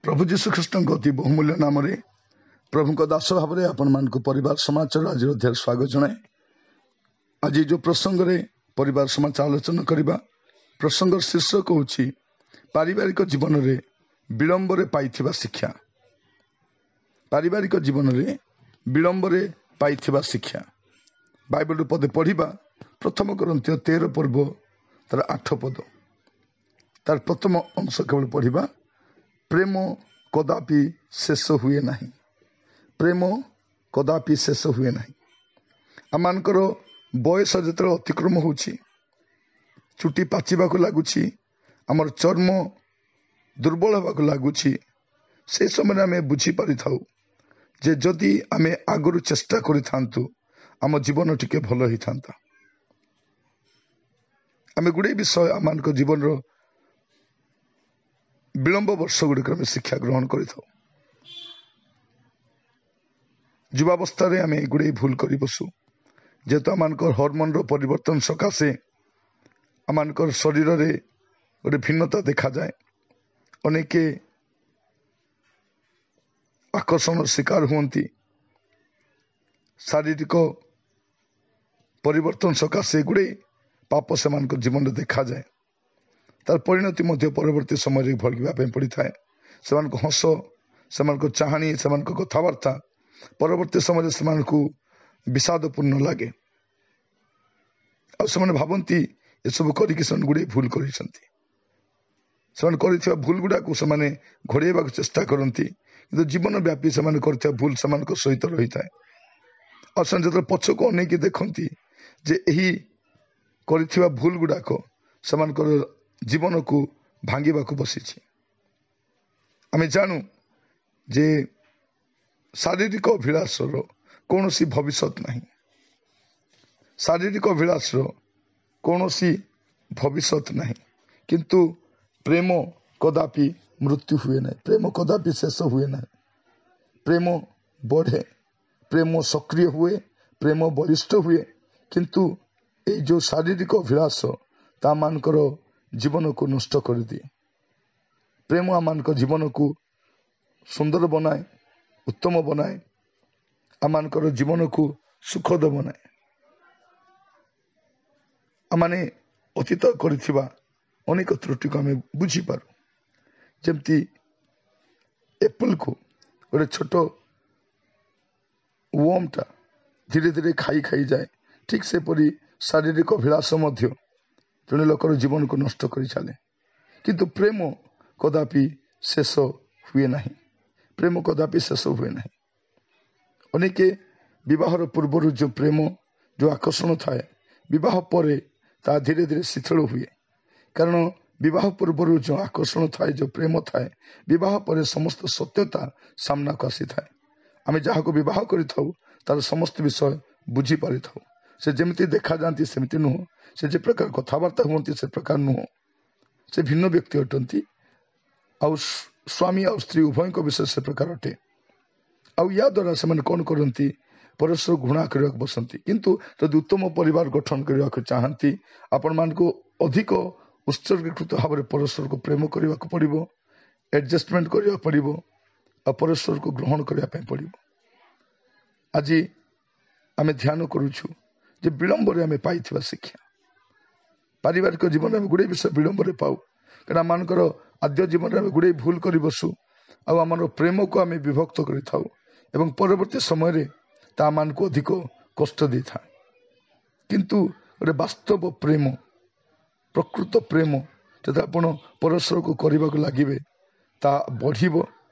ପ୍ରଭୁ ଯୀଶୁ ଖ୍ରୀଷ୍ଟଙ୍କ ଅତି ବହୁମୂଲ୍ୟ ନାମରେ ପ୍ରଭୁଙ୍କ ଦାସ ଭାବରେ ଆପଣମାନଙ୍କୁ ପରିବାର ସମାଚାର ଆଜିର ଅଧ୍ୟାୟରେ ସ୍ୱାଗତ ଜଣାଏ। ଆଜି ଯେଉଁ ପ୍ରସଙ୍ଗରେ ପରିବାର ସମାଚାର ଆଲୋଚନା କରିବା, ପ୍ରସଙ୍ଗର ଶୀର୍ଷକ ହେଉଛି ପାରିବାରିକ ଜୀବନରେ ବିଳମ୍ବରେ ପାଇଥିବା ଶିକ୍ଷା। ପାରିବାରିକ ଜୀବନରେ ବିଳମ୍ବରେ ପାଇଥିବା ଶିକ୍ଷା। ବାଇବଲରୁ ପଦେ ପଢ଼ିବା, ପ୍ରଥମ କରିନ୍ଥୀୟ 13 ପର୍ବ ତାର 8 ପଦ, ତାର ପ୍ରଥମ ଅଂଶ କେବଳ ପଢ଼ିବା। ପ୍ରେମ କଦାପି ଶେଷ ହୁଏ ନାହିଁ। ପ୍ରେମ କଦାପି ଶେଷ ହୁଏ ନାହିଁ। ଆମମାନଙ୍କର ବୟସ ଯେତେବେଳେ ଅତିକ୍ରମ ହେଉଛି, ଚୁଟି ପାଚିବାକୁ ଲାଗୁଛି, ଆମର ଚର୍ମ ଦୁର୍ବଳ ହେବାକୁ ଲାଗୁଛି, ସେ ସମୟରେ ଆମେ ବୁଝିପାରିଥାଉ ଯେ ଯଦି ଆମେ ଆଗରୁ ଚେଷ୍ଟା କରିଥାନ୍ତୁ, ଆମ ଜୀବନ ଟିକେ ଭଲ ହେଇଥାନ୍ତା। ଆମେ ଗୁଡ଼ିଏ ବିଷୟ ଆମମାନଙ୍କ ଜୀବନର ବିଳମ୍ବ ବର୍ଷ ଗୁଡ଼ିକରେ ଆମେ ଶିକ୍ଷା ଗ୍ରହଣ କରିଥାଉ। ଯୁବାବସ୍ଥାରେ ଆମେ ଗୁଡ଼ିଏ ଭୁଲ କରି ବସୁ, ଯେହେତୁ ଆମମାନଙ୍କର ହରମୋନର ପରିବର୍ତ୍ତନ ସକାଶେ ଆମମାନଙ୍କର ଶରୀରରେ ଗୋଟେ ଭିନ୍ନତା ଦେଖାଯାଏ। ଅନେକ ଆକର୍ଷଣର ଶିକାର ହୁଅନ୍ତି। ଶାରୀରିକ ପରିବର୍ତ୍ତନ ସକାଶେ ଗୁଡ଼ିଏ ପାପ ସେମାନଙ୍କ ଜୀବନରେ ଦେଖାଯାଏ। ତାର ପରିଣତି ମଧ୍ୟ ପରବର୍ତ୍ତୀ ସମୟରେ ଭୋଗିବା ପାଇଁ ପଡ଼ିଥାଏ। ସେମାନଙ୍କ ହସ, ସେମାନଙ୍କ ଚାହାଣୀ, ସେମାନଙ୍କ କଥାବାର୍ତ୍ତା ପରବର୍ତ୍ତୀ ସମୟରେ ସେମାନଙ୍କୁ ବିଷାଦପୂର୍ଣ୍ଣ ଲାଗେ। ଆଉ ସେମାନେ ଭାବନ୍ତି ଏସବୁ କରିକି ସେମାନେ ଗୁଡ଼ିଏ ଭୁଲ କରିଛନ୍ତି। ସେମାନେ କରିଥିବା ଭୁଲ ଗୁଡ଼ାକୁ ସେମାନେ ଘୋଡ଼େଇବାକୁ ଚେଷ୍ଟା କରନ୍ତି, କିନ୍ତୁ ଜୀବନ ବ୍ୟାପୀ ସେମାନେ କରିଥିବା ଭୁଲ ସେମାନଙ୍କ ସହିତ ରହିଥାଏ। ଆଉ ସେମାନେ ଯେତେବେଳେ ପଛକୁ ଅନେଇକି ଦେଖନ୍ତି ଯେ ଏହି କରିଥିବା ଭୁଲ ଗୁଡ଼ାକ ସେମାନଙ୍କର ଜୀବନକୁ ଭାଙ୍ଗିବାକୁ ବସିଛି। ଆମେ ଜାଣୁ ଯେ ଶାରୀରିକ ଅଭିଳାଷର କୌଣସି ଭବିଷ୍ୟତ ନାହିଁ। ଶାରୀରିକ ଅଭିଳାଷର କୌଣସି ଭବିଷ୍ୟତ ନାହିଁ, କିନ୍ତୁ ପ୍ରେମ କଦାପି ମୃତ୍ୟୁ ହୁଏ ନାହିଁ। ପ୍ରେମ କଦାପି ଶେଷ ହୁଏ ନାହିଁ। ପ୍ରେମ ବଢ଼େ, ପ୍ରେମ ସକ୍ରିୟ ହୁଏ, ପ୍ରେମ ବଳିଷ୍ଠ ହୁଏ। କିନ୍ତୁ ଏଇ ଯେଉଁ ଶାରୀରିକ ଅଭିଳାଷ ତାମାନଙ୍କର ଜୀବନକୁ ନଷ୍ଟ କରିଦିଏ। ପ୍ରେମ ଆମମାନଙ୍କ ଜୀବନକୁ ସୁନ୍ଦର ବନାଏ, ଉତ୍ତମ ବନାଏ, ଆମମାନଙ୍କର ଜୀବନକୁ ସୁଖଦ ବନାଏ। ଆମମାନେ ଅତୀତ କରିଥିବା ଅନେକ ତ୍ରୁଟିକୁ ଆମେ ବୁଝିପାରୁ। ଯେମିତି ଏପଲକୁ ଗୋଟେ ଛୋଟ ୱର୍ମଟା ଧୀରେ ଧୀରେ ଖାଇ ଖାଇଯାଏ, ଠିକ୍ ସେପରି ଶାରୀରିକ ଅଭିଳାଷ ମଧ୍ୟ ଜଣେ ଲୋକର ଜୀବନକୁ ନଷ୍ଟ କରି ଚାଲେ। କିନ୍ତୁ ପ୍ରେମ କଦାପି ଶେଷ ହୁଏ ନାହିଁ। ପ୍ରେମ କଦାପି ଶେଷ ହୁଏ ନାହିଁ। ଅନେକେ ବିବାହର ପୂର୍ବରୁ ଯେଉଁ ପ୍ରେମ, ଯେଉଁ ଆକର୍ଷଣ ଥାଏ, ବିବାହ ପରେ ତାହା ଧୀରେ ଧୀରେ ଶିଥିଳ ହୁଏ। କାରଣ ବିବାହ ପୂର୍ବରୁ ଯେଉଁ ଆକର୍ଷଣ ଥାଏ, ଯେଉଁ ପ୍ରେମ ଥାଏ, ବିବାହ ପରେ ସମସ୍ତ ସତ୍ୟତା ସାମ୍ନାକୁ ଆସିଥାଏ। ଆମେ ଯାହାକୁ ବିବାହ କରିଥାଉ ତାର ସମସ୍ତ ବିଷୟ ବୁଝିପାରିଥାଉ। ସେ ଯେମିତି ଦେଖାଯାଆନ୍ତି ସେମିତି ନୁହଁ, ସେ ଯେ ପ୍ରକାର କଥାବାର୍ତ୍ତା ହୁଅନ୍ତି ସେ ପ୍ରକାର ନୁହଁ, ସେ ଭିନ୍ନ ବ୍ୟକ୍ତି ଅଟନ୍ତି। ଆଉ ସ୍ୱାମୀ ଆଉ ସ୍ତ୍ରୀ ଉଭୟଙ୍କ ବିଷୟ ସେ ପ୍ରକାର ଅଟେ। ଆଉ ୟା ଦ୍ୱାରା ସେମାନେ କ'ଣ କରନ୍ତି? ପରସ୍ପର ଘୃଣା କରିବାକୁ ବସନ୍ତି। କିନ୍ତୁ ଯଦି ଉତ୍ତମ ପରିବାର ଗଠନ କରିବାକୁ ଚାହାନ୍ତି, ଆପଣମାନଙ୍କୁ ଅଧିକ ଉତ୍ସର୍ଗୀକୃତ ଭାବରେ ପରସ୍ପରକୁ ପ୍ରେମ କରିବାକୁ ପଡ଼ିବ, ଆଡ଼ଜଷ୍ଟମେଣ୍ଟ କରିବାକୁ ପଡ଼ିବ, ଆଉ ପରସ୍ପରକୁ ଗ୍ରହଣ କରିବା ପାଇଁ ପଡ଼ିବ। ଆଜି ଆମେ ଧ୍ୟାନ କରୁଛୁ ଯେ ବିଳମ୍ବରେ ଆମେ ପାଇଥିବା ଶିକ୍ଷା। ପାରିବାରିକ ଜୀବନରେ ଆମେ ଗୁଡ଼ିଏ ବିଷୟ ବିଳମ୍ବରେ ପାଉ, କାରଣ ଆମମାନଙ୍କର ଆଦ୍ୟ ଜୀବନରେ ଆମେ ଗୁଡ଼ିଏ ଭୁଲ କରି ବସୁ, ଆଉ ଆମର ପ୍ରେମକୁ ଆମେ ବିଭକ୍ତ କରିଥାଉ ଏବଂ ପରବର୍ତ୍ତୀ ସମୟରେ ତା ଆମମାନଙ୍କୁ ଅଧିକ କଷ୍ଟ ଦେଇଥାଏ। କିନ୍ତୁ ଗୋଟେ ବାସ୍ତବ ପ୍ରେମ, ପ୍ରକୃତ ପ୍ରେମ ଯଦି ଆପଣ ପରସ୍ପରକୁ କରିବାକୁ ଲାଗିବେ, ତାହା ବଢ଼ିବ।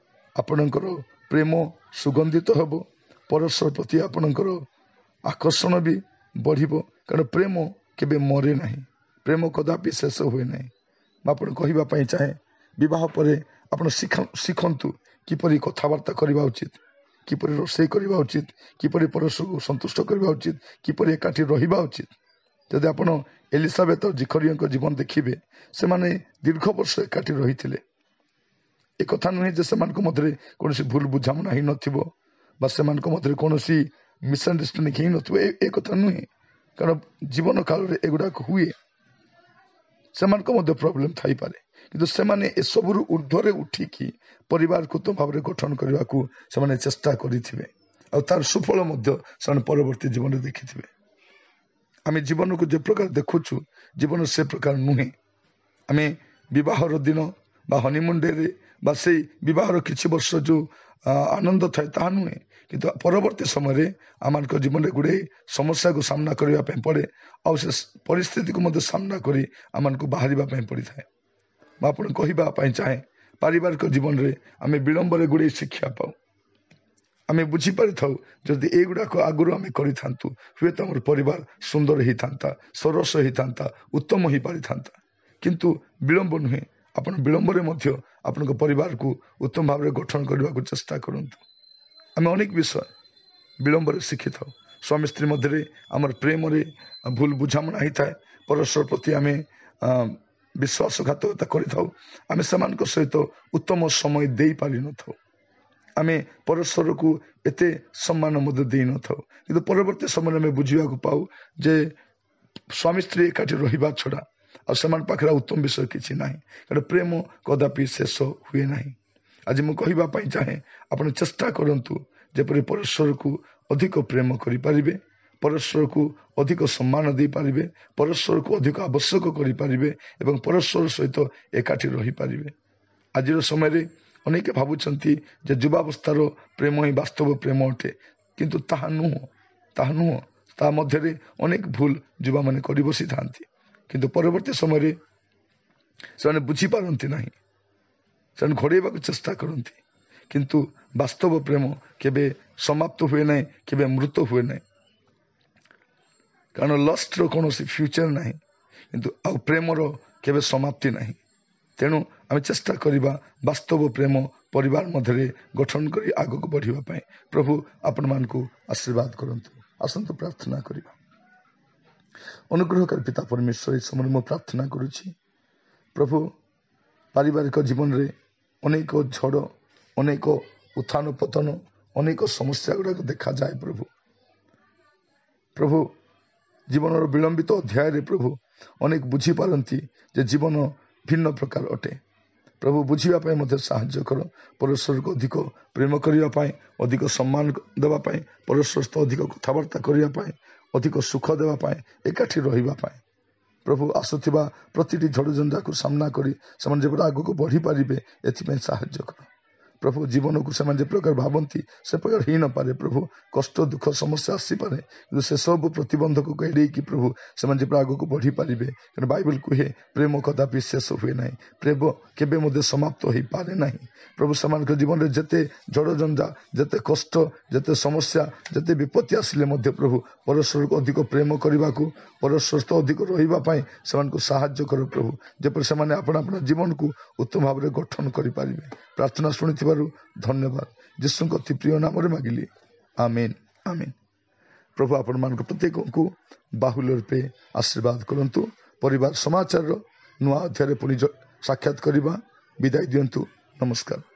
ଆପଣଙ୍କର ପ୍ରେମ ସୁଗନ୍ଧିତ ହେବ, ପରସ୍ପର ପ୍ରତି ଆପଣଙ୍କର ଆକର୍ଷଣ ବି ବଢ଼ିବ। କାରଣ ପ୍ରେମ କେବେ ମରେ ନାହିଁ, ପ୍ରେମ କଦାପି ଶେଷ ହୁଏ ନାହିଁ। ମୁଁ ଆପଣ କହିବା ପାଇଁ ଚାହେଁ, ବିବାହ ପରେ ଆପଣ ଶିଖନ୍ତୁ କିପରି କଥାବାର୍ତ୍ତା କରିବା ଉଚିତ, କିପରି ରୋଷେଇ କରିବା ଉଚିତ, କିପରି ପରସ୍ପରକୁ ସନ୍ତୁଷ୍ଟ କରିବା ଉଚିତ, କିପରି ଏକାଠି ରହିବା ଉଚିତ। ଯଦି ଆପଣ ଏଲିସାବେତ ଜିଖରିୟଙ୍କ ଜୀବନ ଦେଖିବେ, ସେମାନେ ଦୀର୍ଘ ବର୍ଷ ଏକାଠି ରହିଥିଲେ। ଏକଥା ନୁହେଁ ଯେ ସେମାନଙ୍କ ମଧ୍ୟରେ କୌଣସି ଭୁଲ ବୁଝାମଣା ହେଇନଥିବ ବା ସେମାନଙ୍କ ମଧ୍ୟରେ କୌଣସି ମିସ୍ଅଣ୍ଡରଷ୍ଟାଣ୍ଡିଂ ହେଇନଥିବ, ଏ କଥା ନୁହେଁ। କାରଣ ଜୀବନ କାଳରେ ଏଗୁଡ଼ାକ ହୁଏ, ସେମାନଙ୍କ ମଧ୍ୟ ପ୍ରୋବ୍ଲେମ୍ ଥାଇପାରେ। କିନ୍ତୁ ସେମାନେ ଏସବୁରୁ ଉର୍ଦ୍ଧ୍ୱରେ ଉଠିକି ପରିବାରକୁ ଉତ୍ତମ ଭାବରେ ଗଠନ କରିବାକୁ ସେମାନେ ଚେଷ୍ଟା କରିଥିବେ, ଆଉ ତାର ସୁଫଳ ମଧ୍ୟ ସେମାନେ ପରବର୍ତ୍ତୀ ଜୀବନରେ ଦେଖିଥିବେ। ଆମେ ଜୀବନକୁ ଯେ ପ୍ରକାର ଦେଖୁଛୁ, ଜୀବନ ସେ ପ୍ରକାର ନୁହେଁ। ଆମେ ବିବାହର ଦିନ ବା ହନିମୁନ୍ ଡେରେ ବା ସେଇ ବିବାହର କିଛି ବର୍ଷ ଯେଉଁ ଆନନ୍ଦ ଥାଏ ତାହା ନୁହେଁ, କିନ୍ତୁ ପରବର୍ତ୍ତୀ ସମୟରେ ଆମମାନଙ୍କ ଜୀବନରେ ଗୁଡ଼ିଏ ସମସ୍ୟାକୁ ସାମ୍ନା କରିବା ପାଇଁ ପଡ଼େ, ଆଉ ସେ ପରିସ୍ଥିତିକୁ ମଧ୍ୟ ସାମ୍ନା କରି ଆମମାନଙ୍କୁ ବାହାରିବା ପାଇଁ ପଡ଼ିଥାଏ। ମୁଁ ଆପଣଙ୍କୁ କହିବା ପାଇଁ ଚାହେଁ, ପାରିବାରିକ ଜୀବନରେ ଆମେ ବିଳମ୍ବରେ ଗୁଡ଼ିଏ ଶିକ୍ଷା ପାଉ। ଆମେ ବୁଝିପାରିଥାଉ ଯଦି ଏଇଗୁଡ଼ାକ ଆଗରୁ ଆମେ କରିଥାନ୍ତୁ, ହୁଏତ ଆମର ପରିବାର ସୁନ୍ଦର ହେଇଥାନ୍ତା, ସରସ ହେଇଥାନ୍ତା, ଉତ୍ତମ ହେଇପାରିଥାନ୍ତା। କିନ୍ତୁ ବିଳମ୍ବ ନୁହେଁ, ଆପଣ ବିଳମ୍ବରେ ମଧ୍ୟ ଆପଣଙ୍କ ପରିବାରକୁ ଉତ୍ତମ ଭାବରେ ଗଠନ କରିବାକୁ ଚେଷ୍ଟା କରନ୍ତୁ। ଆମେ ଅନେକ ବିଷୟ ବିଳମ୍ବରେ ଶିଖିଥାଉ। ସ୍ୱାମୀ ସ୍ତ୍ରୀ ମଧ୍ୟରେ ଆମର ପ୍ରେମରେ ଭୁଲ ବୁଝାମଣା ହେଇଥାଏ, ପରସ୍ପର ପ୍ରତି ଆମେ ବିଶ୍ୱାସଘାତକତା କରିଥାଉ, ଆମେ ସେମାନଙ୍କ ସହିତ ଉତ୍ତମ ସମୟ ଦେଇପାରିନଥାଉ, ଆମେ ପରସ୍ପରକୁ ଏତେ ସମ୍ମାନ ମଧ୍ୟ ଦେଇନଥାଉ। କିନ୍ତୁ ପରବର୍ତ୍ତୀ ସମୟରେ ଆମେ ବୁଝିବାକୁ ପାଉ ଯେ ସ୍ୱାମୀ ସ୍ତ୍ରୀ ଏକାଠି ରହିବା ଛଡ଼ା ଆଉ ସେମାନଙ୍କ ପାଖରେ ଉତ୍ତମ ବିଷୟ କିଛି ନାହିଁ, କାରଣ ପ୍ରେମ କଦାପି ଶେଷ ହୁଏ ନାହିଁ। ଆଜି ମୁଁ କହିବା ପାଇଁ ଚାହେଁ, ଆପଣ ଚେଷ୍ଟା କରନ୍ତୁ ଯେପରି ପରସ୍ପରକୁ ଅଧିକ ପ୍ରେମ କରିପାରିବେ, ପରସ୍ପରକୁ ଅଧିକ ସମ୍ମାନ ଦେଇପାରିବେ, ପରସ୍ପରକୁ ଅଧିକ ଆବଶ୍ୟକ କରିପାରିବେ ଏବଂ ପରସ୍ପର ସହିତ ଏକାଠି ରହିପାରିବେ। ଆଜିର ସମୟରେ ଅନେକ ଭାବୁଛନ୍ତି ଯେ ଯୁବାବସ୍ଥାର ପ୍ରେମ ହିଁ ବାସ୍ତବ ପ୍ରେମ ଅଟେ, କିନ୍ତୁ ତାହା ନୁହଁ, ତାହା ନୁହଁ। ତା ମଧ୍ୟରେ ଅନେକ ଭୁଲ ଯୁବାମାନେ କରି ବସିଥାନ୍ତି, କିନ୍ତୁ ପରବର୍ତ୍ତୀ ସମୟରେ ସେମାନେ ବୁଝିପାରନ୍ତି ନାହିଁ, ସେମାନେ ଘୋଡ଼େଇବାକୁ ଚେଷ୍ଟା କରନ୍ତି। କିନ୍ତୁ ବାସ୍ତବ ପ୍ରେମ କେବେ ସମାପ୍ତ ହୁଏ ନାହିଁ, କେବେ ମୃତ ହୁଏ ନାହିଁ, କାରଣ ଲଷ୍ଟର କୌଣସି ଫ୍ୟୁଚର ନାହିଁ, କିନ୍ତୁ ଆଉ ପ୍ରେମର କେବେ ସମାପ୍ତି ନାହିଁ। ତେଣୁ ଆମେ ଚେଷ୍ଟା କରିବା ବାସ୍ତବ ପ୍ରେମ ପରିବାର ମଧ୍ୟରେ ଗଠନ କରି ଆଗକୁ ବଢ଼ିବା ପାଇଁ। ପ୍ରଭୁ ଆପଣମାନଙ୍କୁ ଆଶୀର୍ବାଦ କରନ୍ତୁ। ଆସନ୍ତୁ ପ୍ରାର୍ଥନା କରିବା। ଅନୁଗ୍ରହକାରୀ ପିତା ପରମେଶ୍ୱର, ଏ ସମୟରେ ମୁଁ ପ୍ରାର୍ଥନା କରୁଛି ପ୍ରଭୁ, ପାରିବାରିକ ଜୀବନରେ ଅନେକ ଝଡ଼, ଅନେକ ଉତ୍ଥାନ ପତନ, ଅନେକ ସମସ୍ୟା ଗୁଡ଼ାକ ଦେଖାଯାଏ ପ୍ରଭୁ। ପ୍ରଭୁ ଜୀବନର ବିଳମ୍ବିତ ଅଧ୍ୟାୟରେ ପ୍ରଭୁ ଅନେକ ବୁଝିପାରନ୍ତି ଯେ ଜୀବନ ଭିନ୍ନ ପ୍ରକାର ଅଟେ। ପ୍ରଭୁ ବୁଝିବା ପାଇଁ ମଧ୍ୟ ସାହାଯ୍ୟ କର। ପରସ୍ପରକୁ ଅଧିକ ପ୍ରେମ କରିବା ପାଇଁ, ଅଧିକ ସମ୍ମାନ ଦେବା ପାଇଁ, ପରସ୍ପର ସହିତ ଅଧିକ କଥାବାର୍ତ୍ତା କରିବା ପାଇଁ, ଅଧିକ ସୁଖ ଦେବା ପାଇଁ, ଏକାଠି ରହିବା ପାଇଁ ପ୍ରଭୁ ଆସୁଥିବା ପ୍ରତିଟି ଝଡ଼ଝଞ୍ଜାକୁ ସାମ୍ନା କରି ସେମାନେ ଯେପରି ଆଗକୁ ବଢ଼ିପାରିବେ ଏଥିପାଇଁ ସାହାଯ୍ୟ କର ପ୍ରଭୁ। ଜୀବନକୁ ସେମାନେ ଯେ ପ୍ରକାର ଭାବନ୍ତି ସେ ପ୍ରକାର ହେଇନପାରେ ପ୍ରଭୁ। କଷ୍ଟ ଦୁଃଖ ସମସ୍ୟା ଆସିପାରେ, କିନ୍ତୁ ସେସବୁ ପ୍ରତିବନ୍ଧକକୁ ଏଡ଼େଇକି ପ୍ରଭୁ ସେମାନେ ଯେପରି ଆଗକୁ ବଢ଼ିପାରିବେ। କାରଣ ବାଇବଲ କୁହେ ପ୍ରେମ କଦାପି ଶେଷ ହୁଏ ନାହିଁ, ପ୍ରେମ କେବେ ମଧ୍ୟ ସମାପ୍ତ ହୋଇପାରେ ନାହିଁ। ପ୍ରଭୁ ସେମାନଙ୍କ ଜୀବନରେ ଯେତେ ଝଡ଼ଝଞ୍ଜା, ଯେତେ କଷ୍ଟ, ଯେତେ ସମସ୍ୟା, ଯେତେ ବିପତ୍ତି ଆସିଲେ ମଧ୍ୟ ପ୍ରଭୁ ପରସ୍ପରକୁ ଅଧିକ ପ୍ରେମ କରିବାକୁ, ପରସ୍ପର ସହିତ ଅଧିକ ରହିବା ପାଇଁ ସେମାନଙ୍କୁ ସାହାଯ୍ୟ କର ପ୍ରଭୁ, ଯେପରି ସେମାନେ ଆପଣା ଆପଣା ଜୀବନକୁ ଉତ୍ତମ ଭାବରେ ଗଠନ କରିପାରିବେ। ପ୍ରାର୍ଥନା ଶୁଣିଥିବାରୁ ଧନ୍ୟବାଦ। ଯୀଶୁଙ୍କ ଅତି ପ୍ରିୟ ନାମରେ ମାଗିଲି, ଆମେନ୍, ଆମେନ୍। ପ୍ରଭୁ ଆପଣମାନଙ୍କ ପ୍ରତ୍ୟେକଙ୍କୁ ବାହୁଲ୍ୟ ରୂପେ ଆଶୀର୍ବାଦ କରନ୍ତୁ। ପରିବାର ସମାଚାରର ନୂଆ ଅଧ୍ୟାୟରେ ପୁଣି ସାକ୍ଷାତ କରିବା। ବିଦାୟ ଦିଅନ୍ତୁ। ନମସ୍କାର।